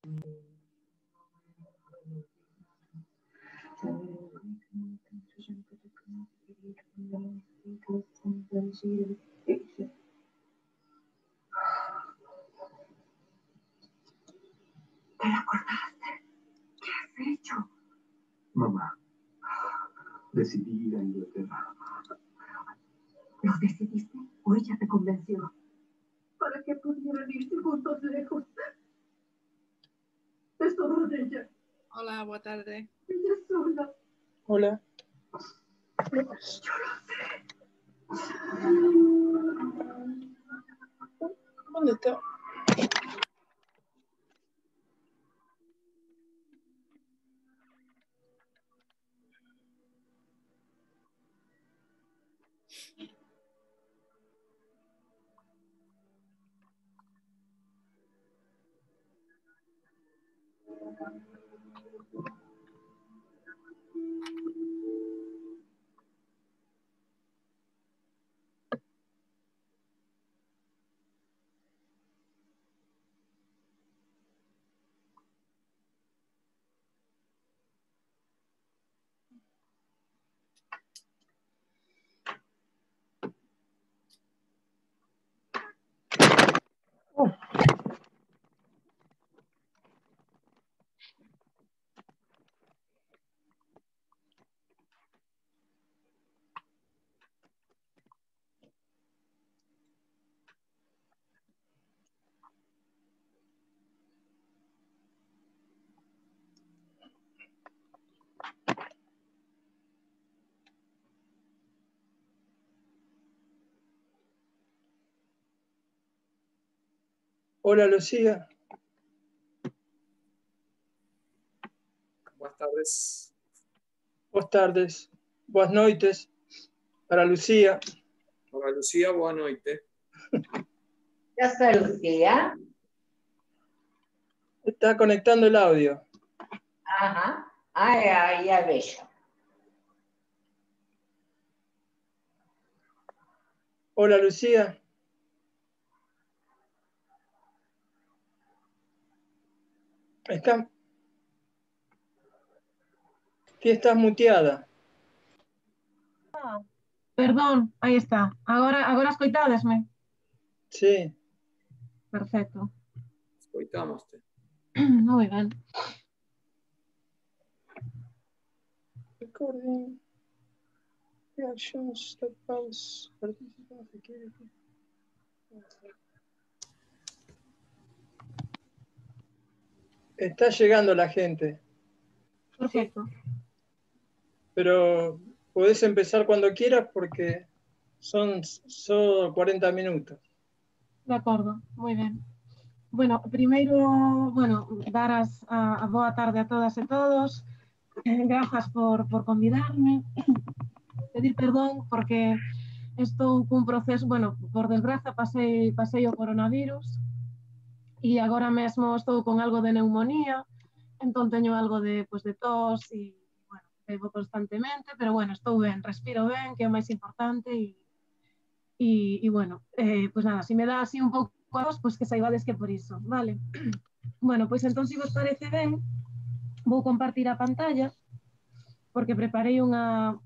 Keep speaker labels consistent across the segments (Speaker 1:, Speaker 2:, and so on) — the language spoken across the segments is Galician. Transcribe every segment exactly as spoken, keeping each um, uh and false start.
Speaker 1: ¿Te acordaste? ¿Qué has hecho?
Speaker 2: Mamá, decidí ir a Inglaterra.
Speaker 1: ¿Lo decidiste o ella te convenció? Para que pudieran irse juntos lejos. Es todo de ella.
Speaker 3: Hola, buenas tardes.
Speaker 1: Ella sola.
Speaker 4: Hola.
Speaker 1: Yo lo sé.
Speaker 4: ¿Dónde está? Oh. Hola, Lucía.
Speaker 5: Buenas tardes.
Speaker 4: Buenas tardes. Buenas noites. Para Lucía.
Speaker 5: Hola, Lucía, boa noite.
Speaker 6: Ya está Lucía.
Speaker 4: Está conectando el audio.
Speaker 6: Ajá. Ay, ay, ya veo.
Speaker 4: Hola, Lucía. Está... Sí, estás muteada.
Speaker 7: Ah, perdón, aí está. Agora, agora escoitádesme.
Speaker 4: Sí.
Speaker 7: Perfecto.
Speaker 5: Escoitámoste.
Speaker 7: Moi ben.
Speaker 4: Recording. Reactions, stop pause. Participant security. Está llegando la gente.
Speaker 7: Perfecto.
Speaker 4: Pero podés empezar cuando quieras porque son solo cuarenta minutos.
Speaker 7: De acordo, moi ben. Bueno, primeiro, bueno, dar as, a, a boa tarde a todas e todos. Eh, grazas por, por convidarme. Pedir perdón porque estou cun proceso, bueno, por desgraza pasei, pasei o coronavirus e agora mesmo estou con algo de neumonía, entón teño algo de, pues, de tos e, bueno, bebo constantemente, pero bueno, estou ben, respiro ben, que é o máis importante e, e, e bueno, eh, pues nada, se me dá así un pouco a vos, pues que saibades que por iso, vale? Bueno, pois entón, se vos parece ben, vou compartir a pantalla, porque preparei unha...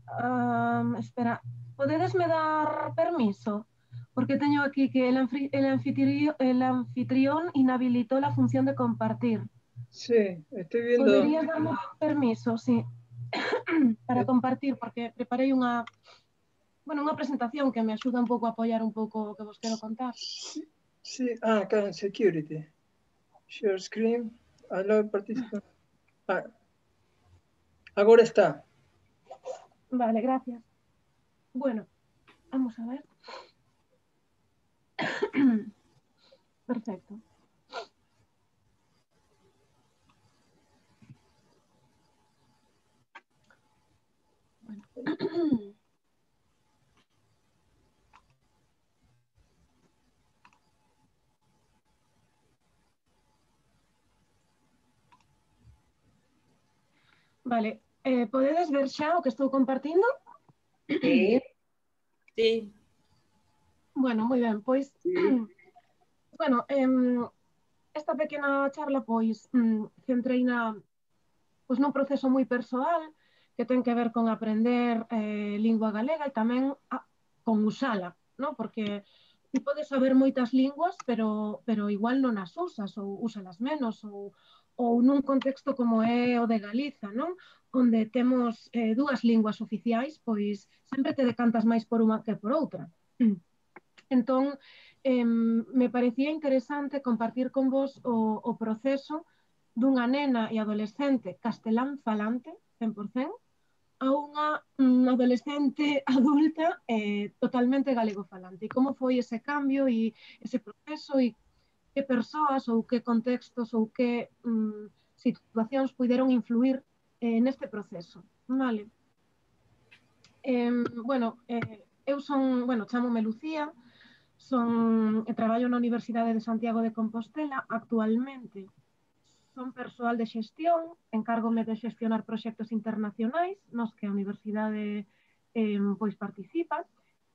Speaker 7: Um, espera, podedesme dar permiso? Porque teño aquí que el, el, anfitrión, el anfitrión inhabilitó la función de compartir.
Speaker 4: Sí, estoy viendo...
Speaker 7: ¿Podrías darme permiso, sí, para compartir? Porque preparei unha, bueno, unha presentación que me axuda un pouco a apoiar un pouco o que vos quero contar.
Speaker 4: Sí, sí. Ah, acá en security. Share screen, allow participants. Ah, agora está.
Speaker 7: Vale, gracias. Bueno, vamos a ver. Perfecto. Bueno. Vale, eh, podedes ver xa o que estou compartindo?
Speaker 6: Sí.
Speaker 3: Sí.
Speaker 7: Bueno, moi ben, pois...
Speaker 5: Sí.
Speaker 7: Bueno, eh, esta pequena charla, pois, mm, centrei na, pois, nun proceso moi persoal que ten que ver con aprender eh, lingua galega e tamén a, con usala, non? Porque ti podes saber moitas linguas, pero, pero igual non as usas, ou úsalas menos, ou, ou nun contexto como é o de Galiza, non? Onde temos eh, dúas linguas oficiais, pois sempre te decantas máis por unha que por outra. Entón, eh, me parecía interesante compartir con vos o, o proceso dunha nena e adolescente castelán falante, cen por cen, a unha um, adolescente adulta eh, totalmente galego falante. E como foi ese cambio e ese proceso e que persoas ou que contextos ou que um, situacións puderon influir eh, neste proceso. Vale. Eh, bueno, eh, eu son, bueno, chámome Lucía, son, e traballo na Universidade de Santiago de Compostela. Actualmente son persoal de xestión, encárgome de xestionar proxectos internacionais nos que a universidade eh, pois participa,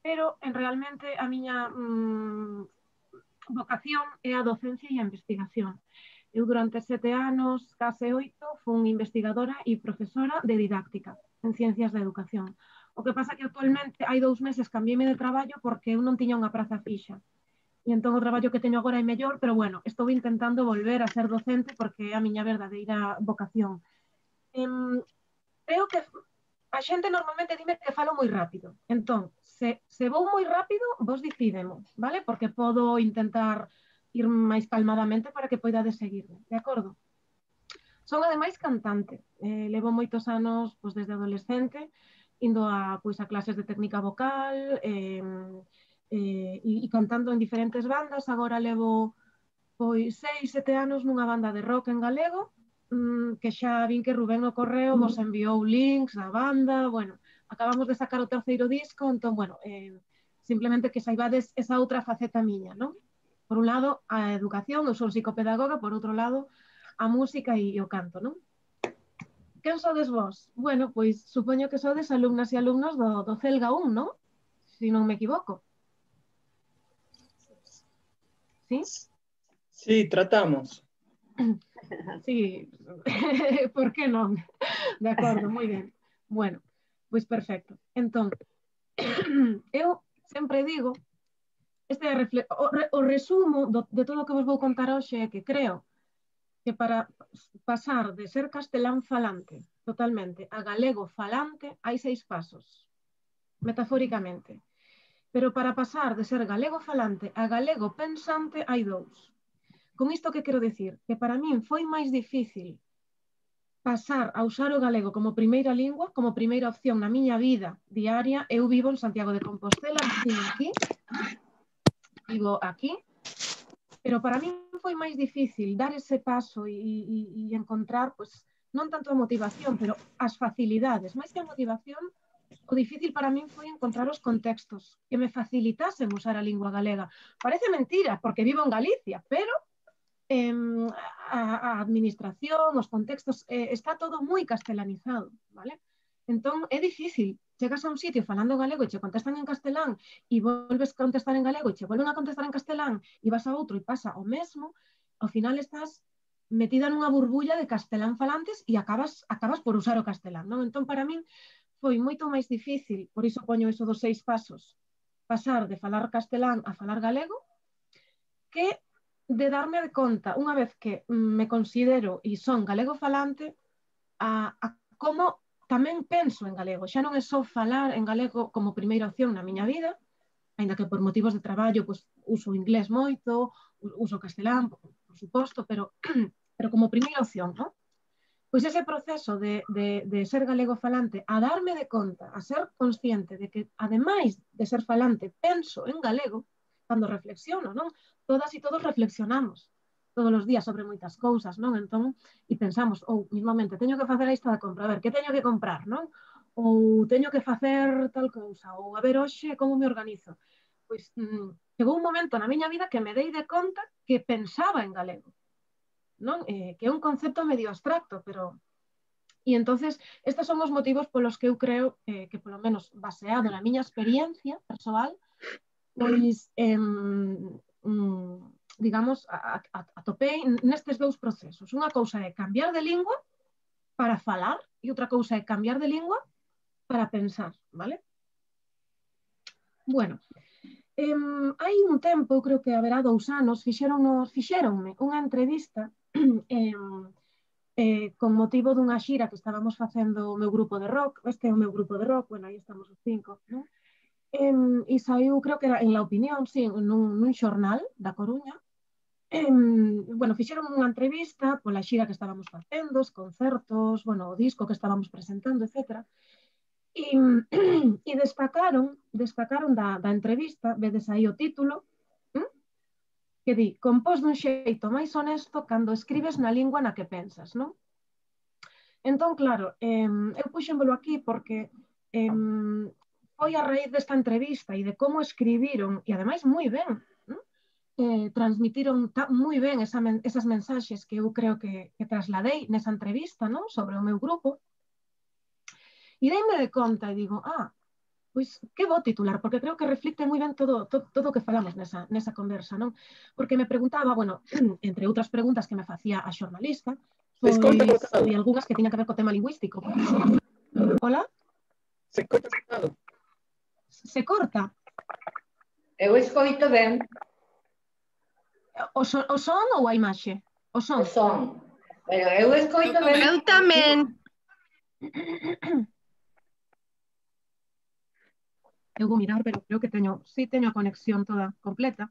Speaker 7: pero en realmente a miña mm, vocación é a docencia e a investigación. Eu durante sete anos, case oito, fun investigadora e profesora de didáctica en ciencias da educación. O que pasa que actualmente hai dous meses cambiéme de traballo porque eu non tiña unha praza fixa. E entón o traballo que teño agora é mellor, pero bueno, estou intentando volver a ser docente porque é a miña verdadeira vocación. Um, creo que a xente normalmente dime que falo moi rápido. Entón, se, se vou moi rápido, vos decidemo, vale? Porque podo intentar ir máis calmadamente para que poidades seguirme, de acordo? Son ademais cantante. Eh, levo moitos anos, pois, desde adolescente, indo a, pois, a clases de técnica vocal, eh, Eh, e, e cantando en diferentes bandas. Agora levo pois seis, sete anos nunha banda de rock en galego, mmm, que xa vin que Rubén no correo vos enviou links da banda. Bueno, acabamos de sacar o terceiro disco, entón, bueno, eh, simplemente que saibades esa outra faceta miña, non? Por un lado, a educación, eu son psicopedagoga, por outro lado, a música e o canto, non? Quen sodes vos? Bueno, pois supoño que sodes alumnas e alumnos do, do Celga un, non? Se non me equivoco. ¿Sí?
Speaker 4: Sí, tratamos.
Speaker 7: Sí, por que non? De acordo, moi ben. Bueno, pois perfecto. Entón, eu sempre digo, este é o, o resumo do, de todo o que vos vou contar hoxe é que creo que para pasar de ser castelán falante totalmente a galego falante hai seis pasos, metafóricamente. Pero para pasar de ser galego falante a galego pensante hai dous. Con isto que quero dicir? Que para min foi máis difícil pasar a usar o galego como primeira lingua, como primeira opción na miña vida diaria. Eu vivo en Santiago de Compostela, vivo aquí, vivo aquí, pero para min foi máis difícil dar ese paso e, e, e encontrar, pues, non tanto a motivación, pero as facilidades. Máis que a motivación, o difícil para min foi encontrar os contextos que me facilitasen usar a lingua galega. Parece mentira, porque vivo en Galicia, pero eh, a, a administración, os contextos, eh, está todo moi castelanizado, vale? Entón, é difícil. Chegas a un sitio falando galego e che contestan en castelán e volves a contestar en galego e che volven a contestar en castelán e vas a outro e pasa o mesmo, ao final estás metida nunha burbulla de castelán falantes e acabas, acabas por usar o castelán, non? Entón, para min, foi moito máis difícil, por iso poño iso dos seis pasos, pasar de falar castelán a falar galego, que de darme de conta, unha vez que me considero e son galego falante, a, a como tamén penso en galego. Xa non é só falar en galego como primeira opción na miña vida, ainda que por motivos de traballo pues, uso inglés moito, uso castelán, por, por suposto, pero, pero como primeira opción, non? Pois ese proceso de, de, de ser galego falante, a darme de conta, a ser consciente de que, ademais de ser falante, penso en galego, cando reflexiono, non? Todas e todos reflexionamos todos os días sobre moitas cousas, non? Entón, e pensamos, ou, mismamente, teño que facer a lista de compra, a ver, que teño que comprar, non? Ou teño que facer tal cousa, ou a ver, hoxe, como me organizo? Pois, mmm, chegou un momento na miña vida que me dei de conta que pensaba en galego, non? Eh, que é un concepto medio abstracto, pero... E entonces, estes son os motivos polos que eu creo eh, que, polo menos, baseado na miña experiencia persoal, pois, eh, mm, digamos, atopei nestes dous procesos. Unha cousa é cambiar de lingua para falar e outra cousa é cambiar de lingua para pensar, vale? Bueno, eh, hai un tempo, eu creo que haberá dous anos, fixeronme unha entrevista eh, eh, con motivo dunha xira que estábamos facendo o meu grupo de rock, este é o meu grupo de rock, bueno, aí estamos os cinco, non? Eh, e saiu, creo que era en La Opinión, sí, nun, nun xornal da Coruña. Eh, bueno, fixeron unha entrevista pola xira que estábamos facendo, os concertos, bueno, o disco que estábamos presentando, etcétera. E, e destacaron, destacaron da, da entrevista, vedes aí o título, ¿m? Que di, compós dun xeito máis honesto cando escribes na lingua na que pensas, non? Entón, claro, eh, eu puxémolo aquí porque eh, foi a raíz desta entrevista e de como escribiron, e ademais moi ben, Eh, transmitiron moi ben esa men esas mensaxes que eu creo que, que trasladei nesa entrevista, non? Sobre o meu grupo. E deime de conta e digo, ah, pois que bo titular, porque creo que reflicte moi ben todo, todo, todo o que falamos nesa, nesa conversa, non? Porque me preguntaba, bueno, entre outras preguntas que me facía a xornalista, pois de algunhas que tiñan que ver co tema lingüístico. Hola?
Speaker 4: Se corta cortado.
Speaker 7: Se corta?
Speaker 6: Eu escoito ben.
Speaker 7: O son, o son ou a imaxe? O son.
Speaker 6: O son. Pero eu escoito ben.
Speaker 3: Eu tamén.
Speaker 7: Eu vou mirar, pero creo que teño, sí teño a conexión toda completa.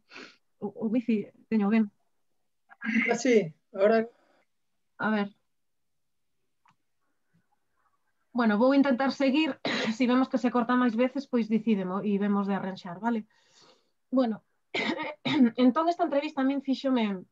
Speaker 7: O, o wifi teño ben.
Speaker 4: Ah, sí, ahora...
Speaker 7: A ver. Bueno, vou intentar seguir. Se vemos que se corta máis veces, pois decidemo e vemos de arranxar, vale? Bueno, entón esta entrevista a min fíxome,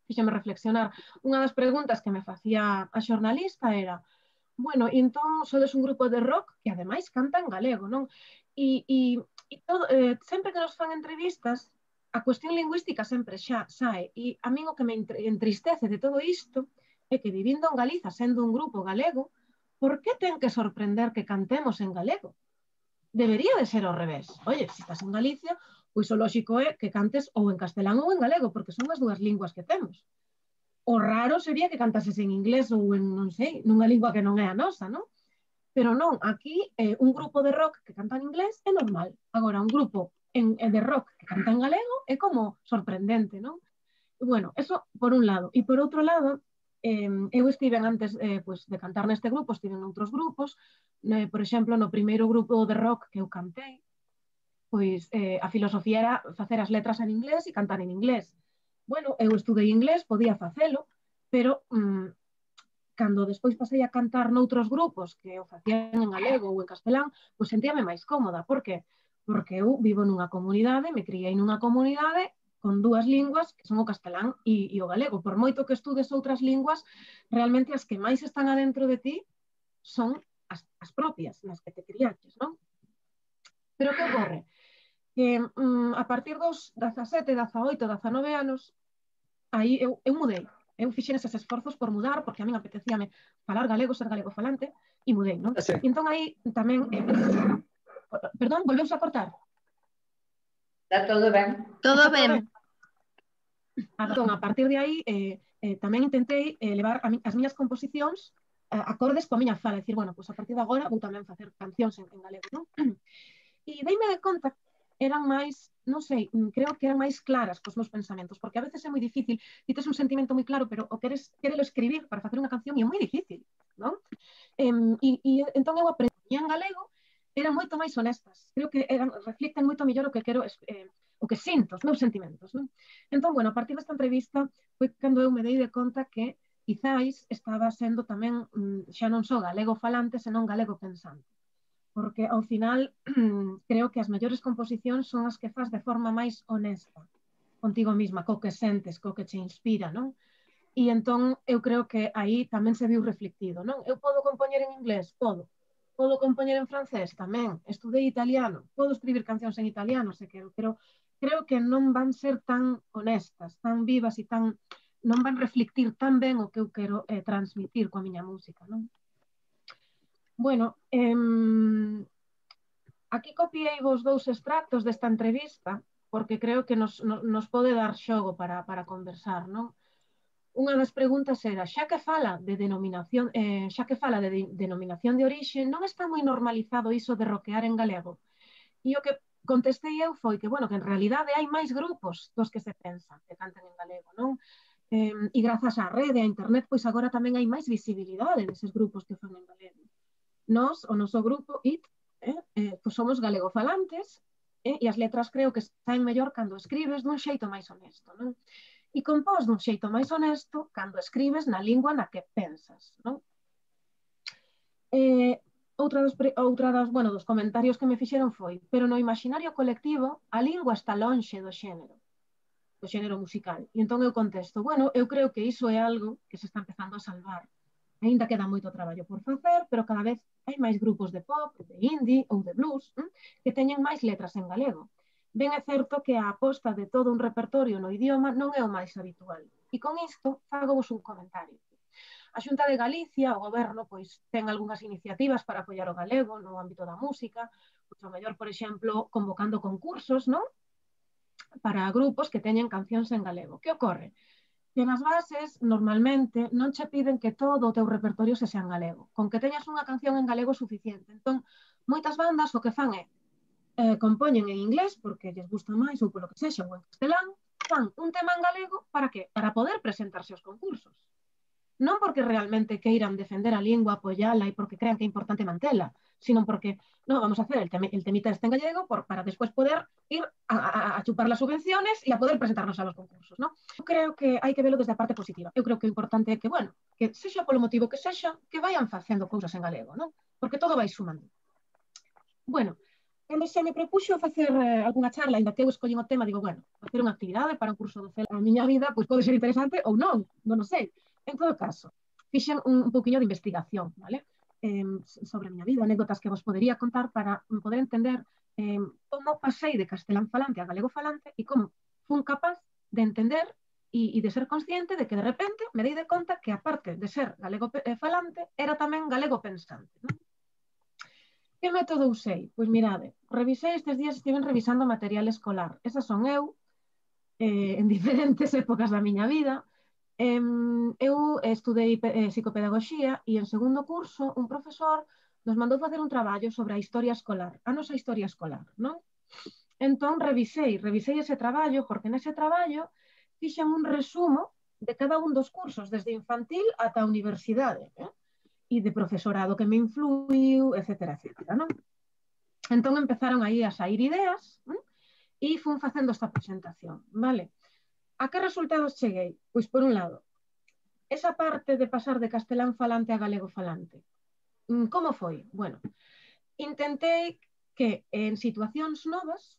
Speaker 7: fíxome reflexionar. Unha das preguntas que me facía a xornalista era, bueno, entón sodes un grupo de rock que ademais canta en galego, non? E, e, e todo, eh, sempre que nos fan entrevistas, a cuestión lingüística sempre xa sae. E a min o que me entristece de todo isto é que vivindo en Galiza, sendo un grupo galego, por que ten que sorprender que cantemos en galego? Debería de ser ao revés. Oye, se estás en Galicia, pois o lóxico é que cantes ou en castelán ou en galego, porque son as dúas linguas que temos. O raro sería que cantases en inglés ou en, non sei, nunha lingua que non é a nosa, non? Pero non, aquí eh, un grupo de rock que canta en inglés é normal. Agora, un grupo en, de rock que canta en galego é como sorprendente, non? E, bueno, eso por un lado. E por outro lado, eh, eu estiven antes eh, pues, de cantar neste grupo, estiven en outros grupos, eh, por exemplo, no primeiro grupo de rock que eu cantei, pois eh, a filosofía era facer as letras en inglés e cantar en inglés. Bueno, eu estudei inglés, podía facelo, pero mm, cando despois pasei a cantar noutros grupos que o facían en galego ou en castelán, pois sentíame máis cómoda. Por que? Porque eu vivo nunha comunidade, me criei nunha comunidade con dúas linguas que son o castelán e, e o galego. Por moito que estudes outras linguas, realmente as que máis están adentro de ti son as, as propias, nas que te criaches, non? Pero que ocorre? Que um, a partir dos dezasete, dezaoito, dezanove anos, aí eu, eu mudei. Eu fixen eses esforzos por mudar, porque a min apetecíame falar galego, ser galego falante, e mudei, non?
Speaker 4: Ah, sí.
Speaker 7: E entón aí tamén... Eh, perdón, volveus a cortar?
Speaker 6: Está todo ben.
Speaker 3: Todo ben.
Speaker 7: Entón, a partir de aí, eh, eh, tamén intentei eh, levar a mi, as miñas composicións eh, acordes coa miña fala, dicir, bueno, pues a partir de agora vou tamén facer cancións en, en galego, non? E deime de conta eran máis, non sei, creo que eran máis claras cos meus pensamentos, porque a veces é moi difícil, ti tes un sentimento moi claro, pero o queres, querelo escribir para facer unha canción e é moi difícil, non? E, e, e entón eu aprendi en galego, eran moito máis honestas, creo que eran, reflicten moito mellor o que quero, eh, o que sinto, os meus sentimentos, non? Entón, bueno, a partir desta entrevista foi cando eu me dei de conta que quizáis estaba sendo tamén, xa non só galego falante, senón galego pensante. Porque ao final creo que as mellores composicións son as que faz de forma máis honesta contigo mesma, co que sentes, co que te inspira, non? E entón eu creo que aí tamén se viu reflectido, non? Eu podo compoñer en inglés? Podo. Podo compoñer en francés? Tamén. Estudei italiano? Podo escribir cancións en italiano, se quero, pero creo que non van ser tan honestas, tan vivas e tan... non van reflectir tan ben o que eu quero eh, transmitir coa miña música, non? Bueno, eh, aquí copiei vos dous extractos desta entrevista porque creo que nos, nos, nos pode dar xogo para, para conversar, non? Unha das preguntas era, xa que fala de denominación, eh, xa que fala de, de denominación de orixe, non está moi normalizado iso de roquear en galego? E o que contestei eu foi que, bueno, que en realidade hai máis grupos dos que se pensan que cantan en galego, non? Eh, e grazas á rede, á internet, pois agora tamén hai máis visibilidade deses grupos que fan en galego. Nós, o noso grupo, I T, eh, eh, pois somos galegofalantes, eh, e as letras creo que saen mellor cando escribes dun xeito máis honesto, non? E compós dun xeito máis honesto cando escribes na lingua na que pensas, non? Eh, outra dos, outra dos, bueno, dos comentarios que me fixeron foi, pero no imaginario colectivo a lingua está lonxe do xénero, do xénero musical. E entón eu contesto, bueno, eu creo que iso é algo que se está empezando a salvar. Ainda queda moito traballo por facer, pero cada vez hai máis grupos de pop, de indie ou de blues hm, que teñen máis letras en galego. Ben é certo que a aposta de todo un repertorio no idioma non é o máis habitual. E con isto fago vos un comentario. A Xunta de Galicia, o goberno, pois ten algunhas iniciativas para apoiar o galego no ámbito da música, pois o mellor, por exemplo, convocando concursos, non? Para grupos que teñen cancións en galego. Que ocorre? Que nas bases, normalmente, non che piden que todo o teu repertorio se sea en galego. Con que teñas unha canción en galego suficiente. Entón, moitas bandas o que fan é eh, compoñen en inglés, porque lles gusta máis, ou polo que sexa, ou en castelán, fan un tema en galego, para que? Para poder presentarse aos concursos. Non porque realmente queiran defender a lingua, apoyala e porque crean que é importante mantela, sino porque, no, vamos a hacer el, tem el temita este en gallego por, para después poder ir a, a, a chupar las subvenciones e a poder presentarnos a los concursos, ¿no? Eu creo que hai que verlo desde a parte positiva. Eu creo que o importante é que, bueno, que sexa polo motivo que sexa, que vayan facendo cousas en galego, ¿no? Porque todo vai sumando. Bueno, cando se me propuxo facer eh, algunha charla, ainda que eu escollín o tema, digo, bueno, facer unha actividade para un curso do C E L a miña vida, pois pode ser interesante ou non, non o sei. En todo caso, fixen un, un pouquiño de investigación, vale? Eh, sobre a miña vida, anécdotas que vos podería contar para poder entender eh, como pasei de castelán falante a galego falante e como fun capaz de entender e, e de ser consciente de que de repente me dei de conta que aparte de ser galego falante, era tamén galego pensante, non? Que método usei? Pois mirade, revisei estes días, estiven revisando material escolar. Esas son eu, eh, en diferentes épocas da miña vida. Eh, eu estudei eh, psicopedagogía e en segundo curso un profesor nos mandou facer un traballo sobre a historia escolar, a nosa historia escolar, non? Entón revisei, revisei ese traballo porque nese traballo fixen un resumo de cada un dos cursos, desde infantil ata a universidade, eh? E de profesorado que me influiu, etcétera, etcétera, non? Entón empezaron aí a sair ideas eh? E fun facendo esta presentación, vale? A que resultados cheguei? Pois, por un lado, esa parte de pasar de castelán falante a galego falante. Como foi? Bueno, intentei que en situacións novas,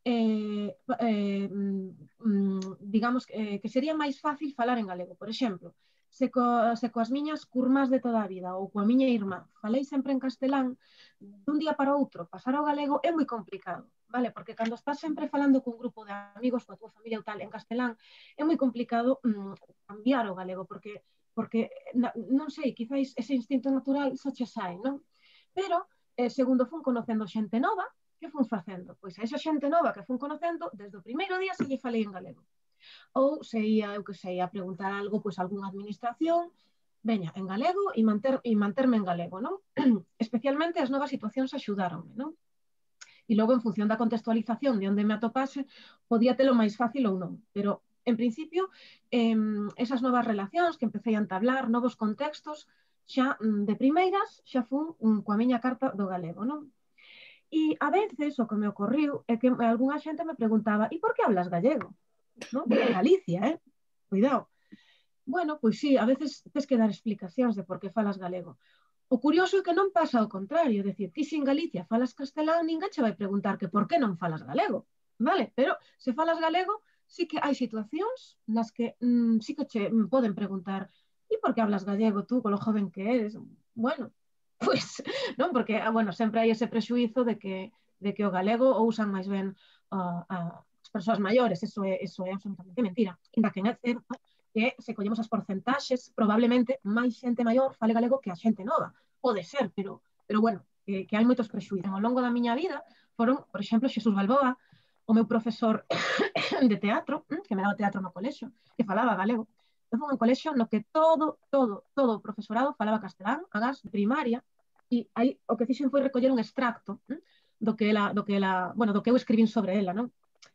Speaker 7: eh, eh, digamos, eh, que sería máis fácil falar en galego. Por exemplo, se, co, se coas miñas curmás de toda a vida ou coa miña irmá falei sempre en castelán, dun día para outro pasar ao galego é moi complicado. Vale, porque cando estás sempre falando cun grupo de amigos, coa túa familia ou tal, en castelán, é moi complicado mm, cambiar o galego, porque, porque non sei, quizáis ese instinto natural só che sai, non? Pero, eh, segundo fun conocendo xente nova, que fun facendo? Pois a esa xente nova que fun conocendo, desde o primeiro día se lle falei en galego. Ou se ia, eu que sei, a preguntar algo, pois algunha administración, veña, en galego e, manter, e manterme en galego, non? Especialmente as novas situacións axudaronme, non? E logo, en función da contextualización de onde me atopase, podía telo máis fácil ou non. Pero, en principio, eh, esas novas relacións que empecé a entablar, novos contextos, xa de primeiras, xa fun coa miña carta do galego, non? E a veces o que me ocorriu é que algunha xente me preguntaba e por que hablas gallego? ¿No? Galicia, eh? Cuidado. Bueno, pois sí, a veces tes que dar explicacións de por que falas galego. O curioso é que non pasa ao contrario, é dicir, ti se en Galicia falas castelán, ninguén che vai preguntar que por que non falas galego, vale? Pero se falas galego, sí que hai situacións nas que mm, sí que che poden preguntar e por que hablas gallego tú, con lo joven que eres? Bueno, pois, non? Porque, bueno, sempre hai ese prexuízo de que, de que o galego o usan máis ben uh, a, as persoas maiores, eso é, eso é absolutamente mentira. Inda que é certo que se collemos as porcentaxes, probablemente máis xente maior fale galego que a xente nova. Pode ser, pero, pero bueno, que, que hai moitos prexuízos. Ao longo da miña vida foron, por exemplo, Xesús Balboa, o meu profesor de teatro, que me daba teatro no colexio, que falaba galego. Eu fui un colexio no que todo, todo, todo o profesorado falaba castelán, agás de primaria, e aí o que fixen foi recoller un extracto do que ela, do que ela, bueno, do que eu escribín sobre ela, non?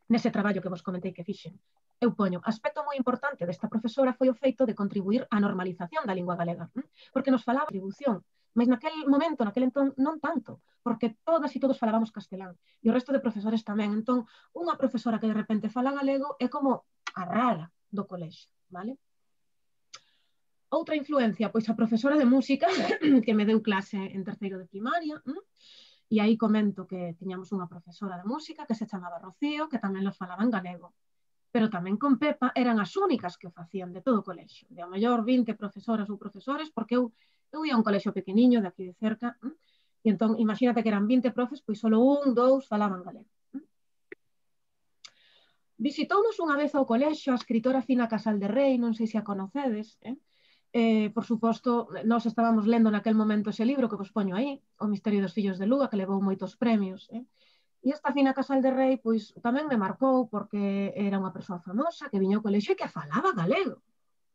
Speaker 7: Nese traballo que vos comentei que fixen. Eu poño, aspecto moi importante desta profesora foi o feito de contribuir á normalización da lingua galega, porque nos falaba atribución, mas naquel momento, naquel entón, non tanto, porque todas e todos falábamos castelán, e o resto de profesores tamén. Entón, unha profesora que de repente fala galego é como a rara do colexio, vale? Outra influencia, pois a profesora de música que me deu clase en terceiro de primaria, e aí comento que tiñamos unha profesora de música que se chamaba Rocío, que tamén nos falaba en galego. Pero tamén con Pepa eran as únicas que o facían de todo o colexio, de a mellor vinte profesoras ou profesores, porque eu, eu ia a un colexio pequeniño de aquí de cerca, ¿eh? E entón, imagínate que eran vinte profes, pois solo un, dous falaban galego. ¿eh? Visitounos unha vez ao colexio a escritora Fina Casal de Rei, non sei se a conocedes, eh? Eh, por suposto, nós estábamos lendo naquel momento ese libro que vos poño aí, O misterio dos fillos de Luga, que levou moitos premios, eh? E esta Fina Casal de Rei, pois, tamén me marcou porque era unha persoa famosa que viña ao colexio e que falaba galego.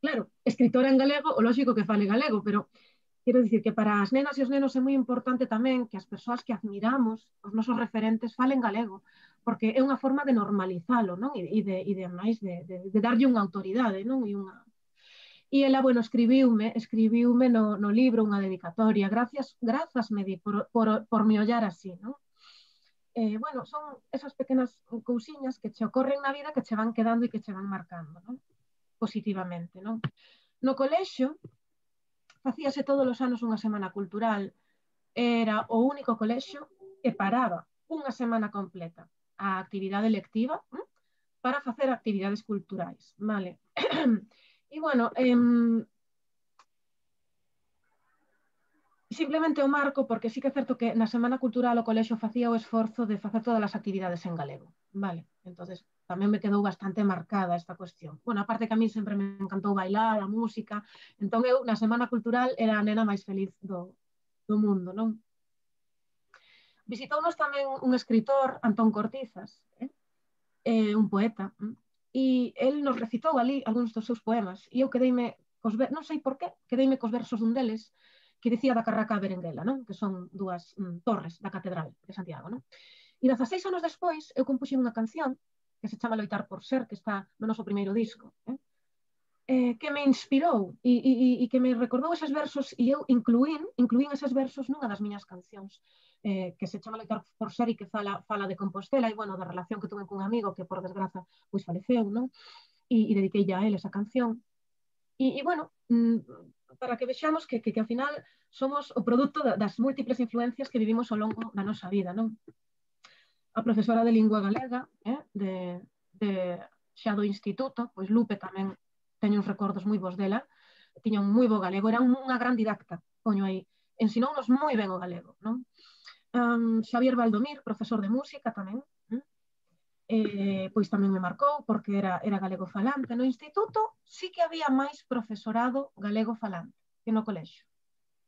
Speaker 7: Claro, escritora en galego, o lógico que fale galego, pero quero dicir que para as nenas e os nenos é moi importante tamén que as persoas que admiramos, os nosos referentes, falen galego, porque é unha forma de normalizalo, non? E de, e de, máis, de, de, de darlle unha autoridade, non? E unha... E ela, bueno, escribiume, escribiume no, no libro unha dedicatoria. Gracias, grazas me di por, por, por me ollar así, non? Eh, bueno, son esas pequenas cousiñas que che ocorren na vida que che van quedando e que che van marcando, non? Positivamente, non? No colexio, facíase todos os anos unha semana cultural. Era o único colexio que paraba unha semana completa a actividade lectiva ¿eh? para facer actividades culturais, vale? E, bueno, eh, simplemente o marco porque sí que é certo que na Semana Cultural o colexio facía o esforzo de facer todas as actividades en galego, vale? Entonces tamén me quedou bastante marcada esta cuestión. Bueno, aparte que a mí sempre me encantou bailar, a música, entón eu na Semana Cultural era a nena máis feliz do, do mundo, non? Visitounos tamén un escritor, Antón Cortizas, eh? Eh, un poeta, eh? E el nos recitou ali algúns dos seus poemas e eu quedeime, cos ver... non sei por qué, quedeime cos versos dun deles que dicía da Carraca Berenguela, non? Que son dúas mm, torres da Catedral de Santiago, non? E dezaseis anos despois eu compuxen unha canción que se chama Loitar por Ser, que está no noso primeiro disco, eh? Eh, que me inspirou e, e, e que me recordou eses versos e eu incluín, incluín eses versos nunha das miñas cancións eh, que se chama Loitar por Ser e que fala, fala de Compostela e, bueno, da relación que tuve con un amigo que, por desgraza, pois faleceu, non? E, e dediquei a él esa canción. E, e bueno, para que vexamos que, que, que ao final somos o produto das múltiples influencias que vivimos ao longo da nosa vida, non? A profesora de lingua galega, eh, de, de xa do instituto, pois Lupe tamén teño uns recordos moi bons dela, tiña un moi bo galego, era unha gran didacta, poño aí, ensinounos moi ben o galego, non? Um, Xavier Valdomir, profesor de música tamén, eh? Eh, pois tamén me marcou porque era, era galego falante. No instituto sí que había máis profesorado galego falante que no colexio,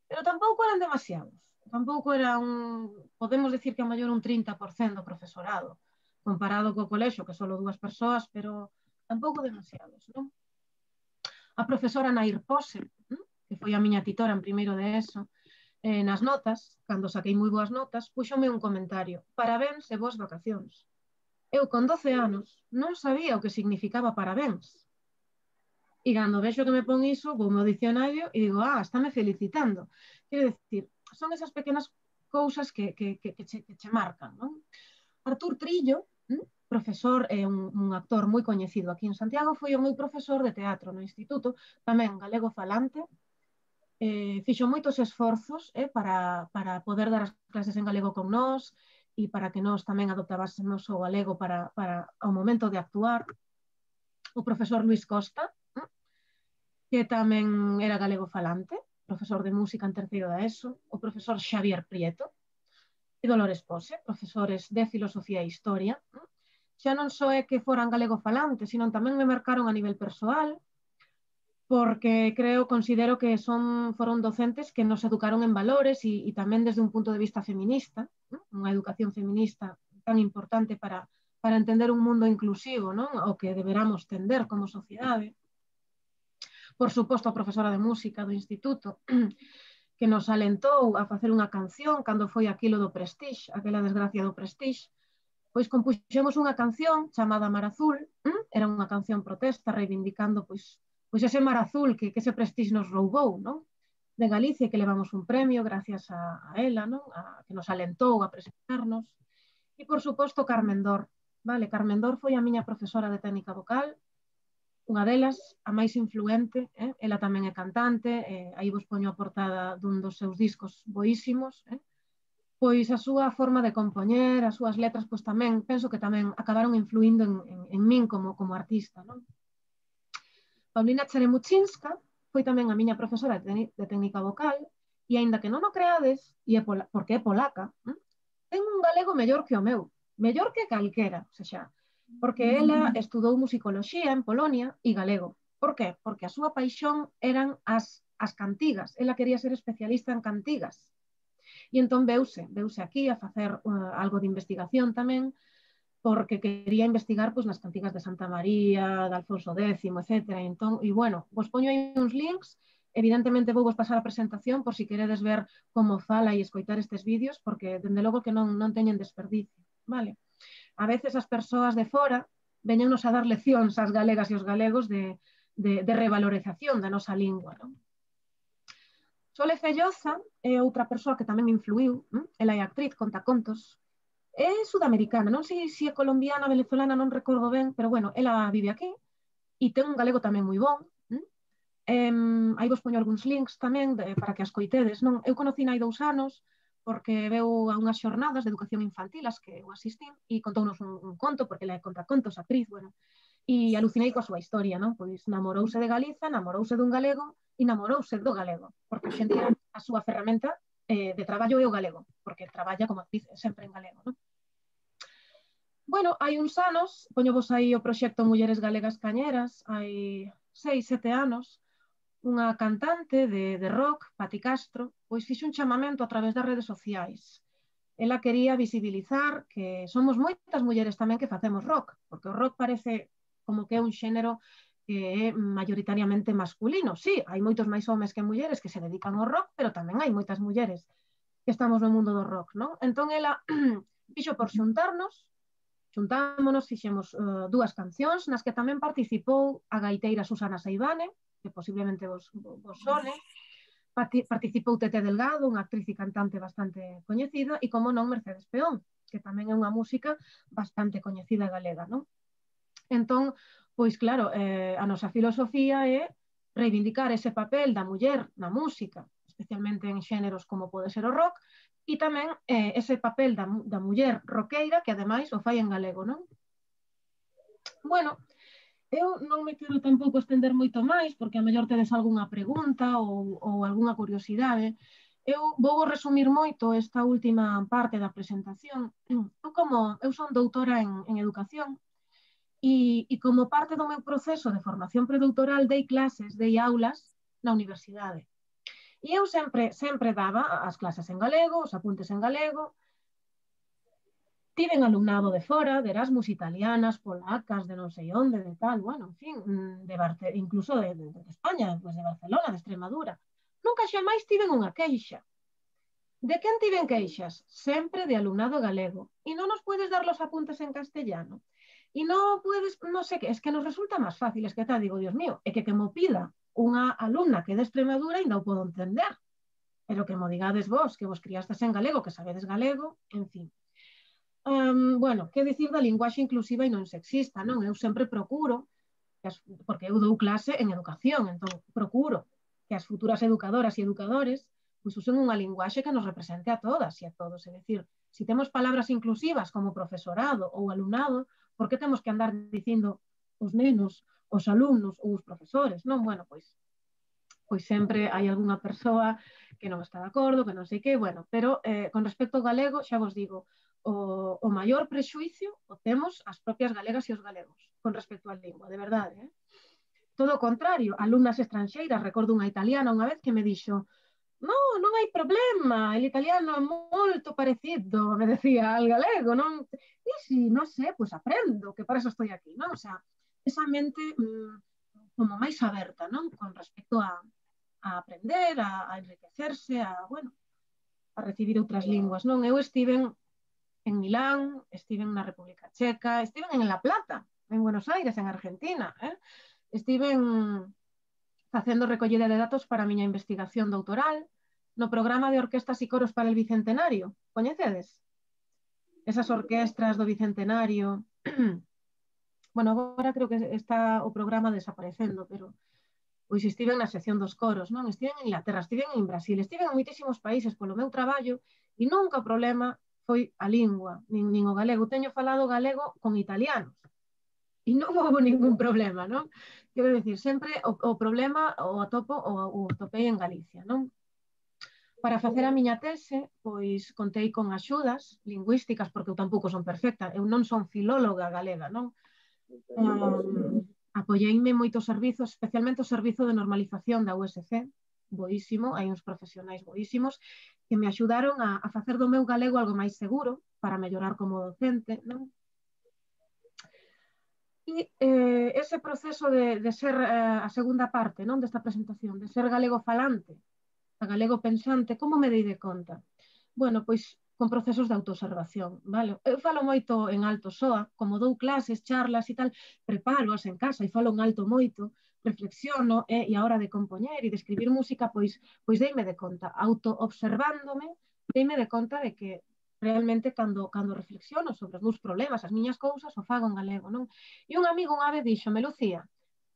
Speaker 7: pero tampouco eran demasiados, tampouco era un, podemos decir que a maior un trinta por cento do profesorado, comparado co colexio, que solo dúas persoas, pero tampouco demasiados, non? A profesora Nair Pose, que foi a miña titora en primeiro de eso, eh, nas notas, cando saquei moi boas notas, puxome un comentario: parabéns e boas vacacións. Eu, con doce anos, non sabía o que significaba parabéns. E cando vexo que me pon iso, vou ao dicionario e digo, ah, estáme felicitando. Quero dicir, son esas pequenas cousas que, que, que, que, che, que che marcan, non? Artur Trillo, ¿eh? Profesor e un, un actor moi coñecido aquí en Santiago, foi o meu profesor de teatro no instituto, tamén galego falante, eh, fixo moitos esforzos eh, para, para poder dar as clases en galego con nós e para que nós tamén adoptásemos o galego para, para ao momento de actuar. O profesor Luis Costa, eh, que tamén era galego falante, profesor de música en terceiro da ESO, o profesor Xavier Prieto e Dolores Pose, profesores de filosofía e historia, eh, xa non só é que foran galego falantes, sino tamén me marcaron a nivel persoal, porque creo, considero que son, foron docentes que nos educaron en valores e, e tamén desde un punto de vista feminista, ¿no? Unha educación feminista tan importante para, para entender un mundo inclusivo, non? O que deberamos tender como sociedade. Por suposto, a profesora de música do instituto, que nos alentou a facer unha canción cando foi aquilo do Prestige, aquela desgracia do Prestige, pois compuxemos unha canción chamada Mar Azul, era unha canción protesta reivindicando pois, pois ese mar azul que, que ese Prestige nos roubou, non? De Galicia, que levamos un premio gracias a, a ela, non? A, que nos alentou a presentarnos. E, por suposto, Carmen Dor. Vale, Carmen Dor foi a miña profesora de técnica vocal, unha delas, a máis influente, eh? Ela tamén é cantante, eh, aí vos poño a portada dun dos seus discos boísimos, eh? Pois a súa forma de compoñer, as súas letras, pois tamén, penso que tamén acabaron influindo en, en, en min como, como artista, non? Paulina Cheremuchinska foi tamén a miña profesora de, de técnica vocal, e aínda que non o creades, e é pola, porque é polaca, eh? Ten un galego mellor que o meu, mellor que calquera, ou seja, porque ela estudou musicoloxía en Polonia e galego. Por qué? Porque a súa paixón eran as, as cantigas. Ela quería ser especialista en cantigas. E entón veuse, veuse aquí a facer uh, algo de investigación tamén, porque quería investigar pois, nas cantigas de Santa María, de Alfonso décimo, etcétera. E, entón, e bueno, vos poño aí uns links, evidentemente vou vos pasar a presentación por si queredes ver como fala e escoitar estes vídeos, porque, dende logo, que non, non teñen desperdicio, vale? A veces as persoas de fora veñennos a dar leccións ás galegas e aos galegos de, de, de revalorización da nosa lingua. Non? Sole Felloza é outra persoa que tamén me influiu, non? Ela é actriz, conta contos, é sudamericana, non sei se é colombiana, venezolana, non recordo ben, pero bueno, ela vive aquí e ten un galego tamén moi bon. Um, aí vos poño algúns links tamén de, para que as coitedes. Non? Eu conocí hai dous anos, porque veu a unhas xornadas de educación infantil as que eu asistín e contounos un, un conto, porque ela é contacontos, actriz, bueno, e alucinei coa súa historia, non? Pois namorouse de Galiza, namorouse dun galego e namorouse do galego, porque hoxe en día a súa ferramenta eh, de traballo é o galego, porque traballa como actriz sempre en galego, non? Bueno, hai uns anos, poño vos aí o proxecto Mulleres Galegas Cañeras, hai seis, sete anos, unha cantante de, de rock, Pati Castro, pois fixe un chamamento a través das redes sociais. Ela quería visibilizar que somos moitas mulleres tamén que facemos rock, porque o rock parece como que é un xénero que é maioritariamente masculino. Sí, hai moitos máis homes que mulleres que se dedican ao rock, pero tamén hai moitas mulleres que estamos no mundo do rock, non? Entón ela fixo por xuntarnos, xuntámonos, fixemos uh, dúas cancións nas que tamén participou a gaiteira Susana Seivane, que posiblemente vos, vos sone, participou Tete Delgado, unha actriz e cantante bastante coñecida, e como non Mercedes Peón, que tamén é unha música bastante coñecida galega, non? Entón, pois claro, eh, a nosa filosofía é reivindicar ese papel da muller na música, especialmente en xéneros como pode ser o rock, e tamén eh, ese papel da, da muller roqueira que ademais o fai en galego, non? Bueno, eu non me quero tampouco estender moito máis, porque a mellor tedes algunha pregunta ou, ou algunha curiosidade. Eu vou resumir moito esta última parte da presentación. Eu, como, eu son doutora en, en educación e, e como parte do meu proceso de formación predoutoral dei clases, dei aulas na universidade. E eu sempre, sempre daba as clases en galego, os apuntes en galego. Tiven alumnado de fora, de Erasmus, italianas, polacas, de non sei onde, de tal, bueno, en fin, de Barce incluso de, de, de España, pues de Barcelona, de Extremadura. Nunca xamais tiven unha queixa. De quen tiven queixas? Sempre de alumnado galego. E non nos podes dar los apuntes en castellano. E non podes, non sei que, es que nos resulta máis fácil, es que te digo, Dios mío, é que que mo pida unha alumna que é de Extremadura ainda o podo entender. Pero que mo digades vos, que vos criastes en galego, que sabedes galego, en fin. Um, bueno, que dicir da linguaxe inclusiva e non sexista, non? Eu sempre procuro, que as, porque eu dou clase en educación, entón procuro que as futuras educadoras e educadores pues, usen unha linguaxe que nos represente a todas e a todos. É dicir, se si temos palabras inclusivas como profesorado ou alumnado, por que temos que andar dicindo os nenos, os alumnos ou os profesores? Non, bueno, pois, pois sempre hai algunha persoa que non está de acordo, que non sei que, bueno, pero eh, con respecto ao galego, xa vos digo, O, o maior prexuicio o temos as propias galegas e os galegos con respecto á lingua, de verdade. Eh? Todo o contrario, alumnas estranxeiras, recordo unha italiana unha vez que me dixo no, non hai problema, el italiano é molto parecido, me decía al galego, non? E si, non sei, pois aprendo, que para eso estou aquí, non? O sea, esa mente mmm, como máis aberta, non? Con respecto a, a aprender, a, a enriquecerse, a, bueno, a recibir outras linguas, non? Eu estiven en Milán, estiven na República Checa, estiven en La Plata, en Buenos Aires, en Argentina, eh? Estiven facendo recollida de datos para a miña investigación doutoral no programa de orquestas e coros para el Bicentenario. Coñecedes? Esas orquestras do Bicentenario. Bueno, agora creo que está o programa desaparecendo, pero pois estiven na sección dos coros, non? Estiven en Inglaterra, estiven en Brasil, estiven en moitísimos países polo meu traballo e nunca o problema foi a lingua, nin, nin o galego. Teño falado galego con italianos e non houve ningún problema, non? Quero dicir, sempre o, o problema o atopo o, o topei en Galicia, non? Para facer a miña tese, pois contei con axudas lingüísticas, porque eu tampouco son perfecta, eu non son filóloga galega, non? Um, apoieime moitos servizos, especialmente o servizo de normalización da U S C, boísimo, hai uns profesionais boísimos, que me axudaron a, a facer do meu galego algo máis seguro, para mellorar como docente, non? E eh, ese proceso de, de ser eh, a segunda parte, non, desta presentación, de ser galego falante, a galego pensante, como me dei de conta? Bueno, pois con procesos de autoobservación, vale? Eu falo moito en alto soa, como dou clases, charlas e tal, prepároas en casa e falo en alto moito, reflexiono eh, e a hora de compoñer e de escribir música, pois, pois deime de conta, autoobservándome, deime de conta de que realmente cando, cando reflexiono sobre os meus problemas, as miñas cousas, o fago en galego, non? E un amigo unha vez dixome, Lucía,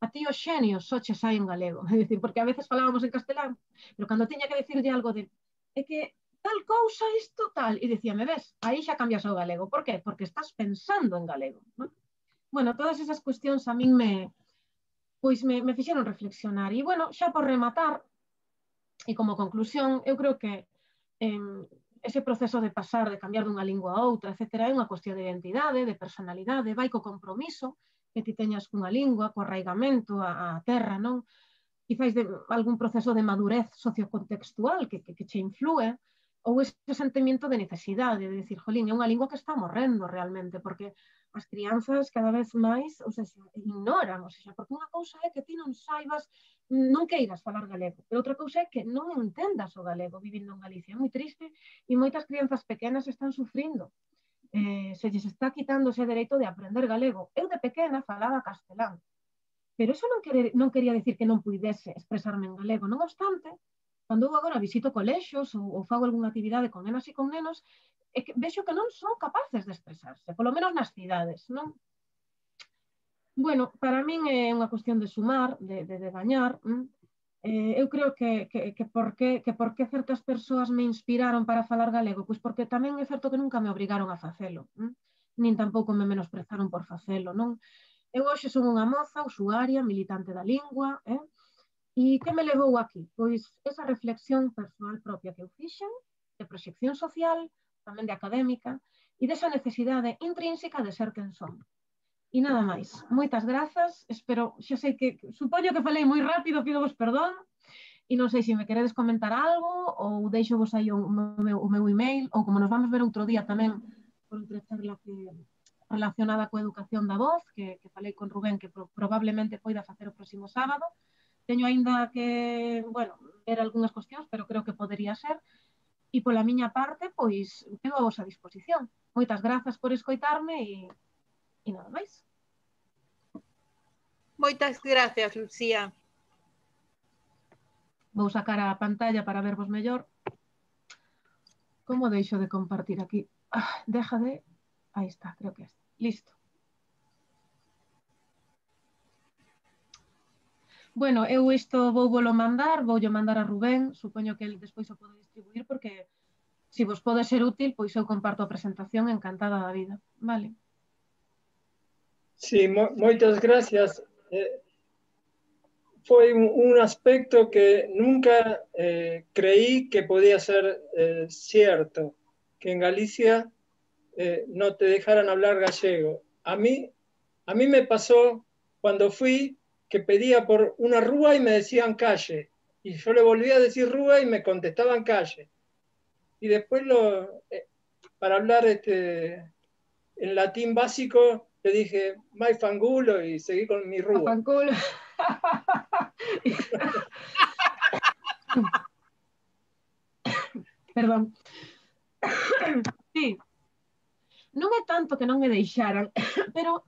Speaker 7: a ti os xenios só che sai en galego, é dicir, porque a veces falábamos en castelán, pero cando tiña que decirlle algo de, é que tal cousa, isto tal, e dicíame, ves, aí xa cambias o galego, por qué? Porque estás pensando en galego, non? Bueno, todas esas cuestións a min me, pois me, me fixeron reflexionar, e bueno, xa por rematar, e como conclusión, eu creo que eh, ese proceso de pasar, de cambiar dunha lingua a outra, etcétera, é unha cuestión de identidade, de personalidade, vai co compromiso que ti teñas cunha lingua, co arraigamento a, a terra, non? Quizás de algún proceso de madurez sociocontextual que, que, que che influe, ou ese sentimento de necesidade, de decir, jolín, é unha lingua que está morrendo realmente, porque as crianzas cada vez máis, ou sea, ignoran, ou sea, porque unha cousa é que ti non saibas, non queiras falar galego, pero outra cousa é que non entendas o galego vivindo en Galicia. É moi triste e moitas crianzas pequenas están sufrindo. Eh, se lles está quitando ese dereito de aprender galego. Eu de pequena falaba castelán, pero eso non, querer, non quería decir que non puidese expresarme en galego. Non obstante, cando eu agora visito colexos ou, ou fago algunha actividade con nenas e con nenos, é que vexo que non son capaces de expresarse, polo menos nas cidades, non? Bueno, para min é unha cuestión de sumar, de, de, de gañar. Eh, eu creo que, que, que, por que, que por que certas persoas me inspiraron para falar galego? Pois porque tamén é certo que nunca me obrigaron a facelo, hm? Nin tampouco me menosprezaron por facelo, non? Eu hoxe son unha moza, usuaria, militante da lingua, eh? E que me levou aquí? Pois esa reflexión persoal propia que eu fixen, de proxección social, tamén de académica, e desa necesidade intrínseca de ser quen son. E nada máis. Moitas grazas. Espero, xa sei que, supoño que falei moi rápido, pido vos perdón, e non sei se me queredes comentar algo, ou deixo vos aí o meu, o meu email, ou como nos vamos ver outro día tamén, por outra charla que, relacionada coa educación da voz, que, que falei con Rubén, que pro, probablemente poida facer o próximo sábado. Teño aínda que, bueno, ver algunhas cuestións, pero creo que podería ser. E pola miña parte, pois, quedo a vosa disposición. Moitas grazas por escoitarme e, e nada máis.
Speaker 3: Moitas gracias, Lucía.
Speaker 7: Vou sacar a pantalla para vervos mellor. Como deixo de compartir aquí? Ah, deja de... Aí está, creo que está. Listo. Bueno, eu isto vou volo mandar, vou yo mandar a Rubén, supoño que el despois o pode distribuir, porque se vos pode ser útil, pois eu comparto a presentación encantada da vida, vale?
Speaker 4: Sí, mo moitas gracias. Eh, foi un, un aspecto que nunca eh, creí que podía ser eh, cierto, que en Galicia eh, no te dejaran hablar gallego. A mí, a mí me pasó cuando fui que pedía por una rúa y me decían calle. y yo le volvía a decir rúa y me contestaban calle. Y después, lo, eh, para hablar este, en latín básico, le dije, mai fangulo, y seguí con mi rúa.
Speaker 7: Fanculo. Perdón. Sí. Non é tanto que non me deixaran, pero,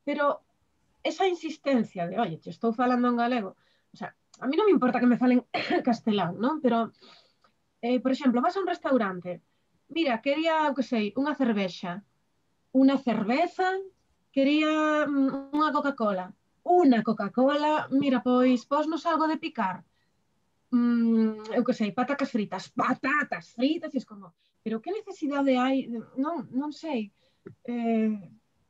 Speaker 7: pero esa insistencia de, oye, te estou falando en galego, o sea, a mí non me importa que me falen castelán, non? Pero, eh, por exemplo, vas a un restaurante, mira, quería, o que sei, unha cervexa, unha cerveza, quería mm, unha Coca-Cola, unha Coca-Cola, mira, pois, posnos algo de picar, mm, eu que sei, patacas fritas, patatas fritas, e es como, pero que necesidade hai, non, non sei, eh,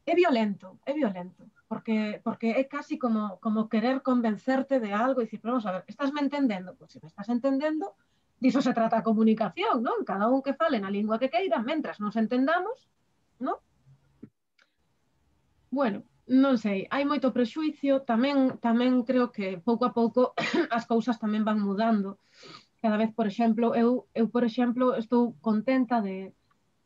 Speaker 7: é violento, é violento, porque, porque é casi como, como querer convencerte de algo e dicir, pero vamos a ver, estás me entendendo? Pois se me estás entendendo, diso se trata a comunicación, non? Cada un que fale na lingua que queira, mentras nos entendamos, non? Bueno, non sei, hai moito prexuicio, tamén, tamén creo que pouco a pouco as cousas tamén van mudando. Cada vez, por exemplo, eu, eu por exemplo, estou contenta de,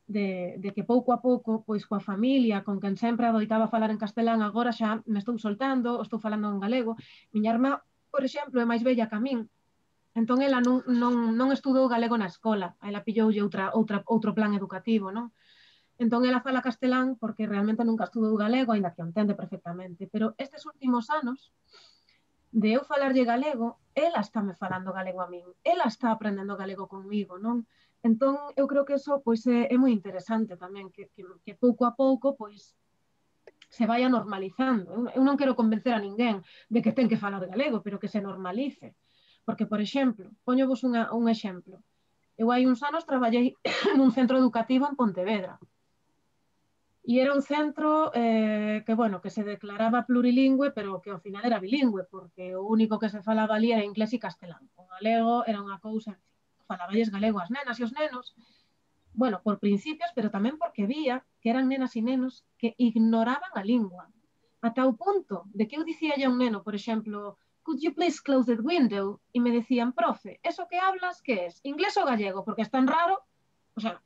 Speaker 7: de, de que pouco a pouco, pois coa familia, con quen sempre adoitaba falar en castelán, agora xa me estou soltando, estou falando en galego. Miña irmá, por exemplo, é máis bella que a min, entón ela non, non, non estudou galego na escola, ela pilloulle outra, outra, outro plan educativo, non? Entón ela fala castelán porque realmente nunca estudou galego, aínda que o entende perfectamente, pero estes últimos anos, de eu falarlle galego, ela está me falando galego a min, ela está aprendendo galego conmigo, non? Entón, eu creo que eso pois, é, é moi interesante tamén, que, que, que pouco a pouco pois, se vaya normalizando. Eu, eu non quero convencer a ninguén de que ten que falar galego, pero que se normalice. Porque, por exemplo, poñovos unha, un exemplo. Eu hai uns anos traballei nun centro educativo en Pontevedra. E era un centro eh, que, bueno, que se declaraba plurilingüe, pero que ao final era bilingüe, porque o único que se falaba ali era inglés e castelán. O galego era unha cousa, falaballes galego as nenas e os nenos, bueno, por principios, pero tamén porque vía que eran nenas e nenos que ignoraban a lingua. Ata o punto de que eu dicía a un neno, por exemplo, could you please close the window? E me decían, profe, eso que hablas, que es? Inglés ou gallego? Porque é tan raro, o sea,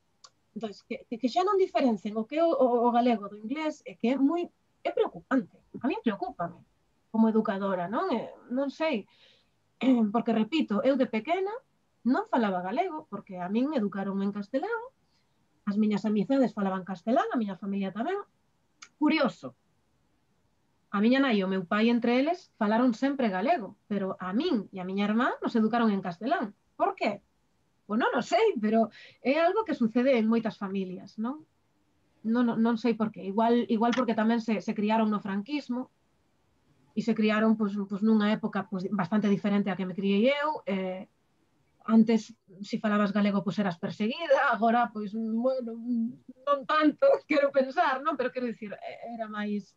Speaker 7: entón, que, que xa non diferencen o que é o, o galego do inglés é que é moi, é preocupante. A mí preocúpame como educadora, non? É, non sei, porque repito, eu de pequena non falaba galego, porque a min educaron en castelán, as miñas amizades falaban castelán, a miña familia tamén. Curioso, a miña nai e o meu pai entre eles falaron sempre galego, pero a min e a miña irmá nos educaron en castelán. Por qué? Pois non o sei, pero é algo que sucede en moitas familias, non? Non, non, non sei por qué. Igual, igual porque tamén se, se criaron no franquismo e se criaron pois, pois, nunha época pois, bastante diferente a que me criei eu. Eh, antes, se falabas galego, pois eras perseguida, agora, pois, bueno, non tanto, quero pensar, non? Pero quero dicir, era máis...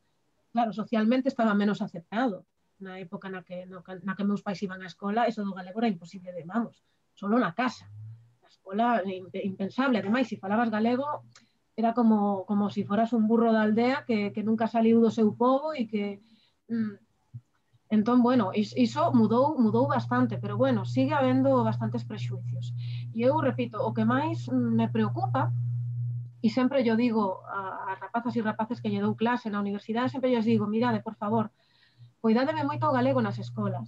Speaker 7: Claro, socialmente estaba menos aceptado. Na época na que, na que meus pais iban á escola, eso do galego era imposible de, vamos, solo na casa. Na escola, impensable. Ademais, se falabas galego, era como, como se si foras un burro da aldea que, que nunca saliu do seu pobo e que... Mm, entón, bueno, iso mudou, mudou bastante, pero, bueno, sigue habendo bastantes prexuicios. E eu, repito, o que máis me preocupa, e sempre yo digo a, a rapazas e rapaces que lle dou clase na universidade, sempre yo digo, mirade, por favor, cuidádeme moito o galego nas escolas,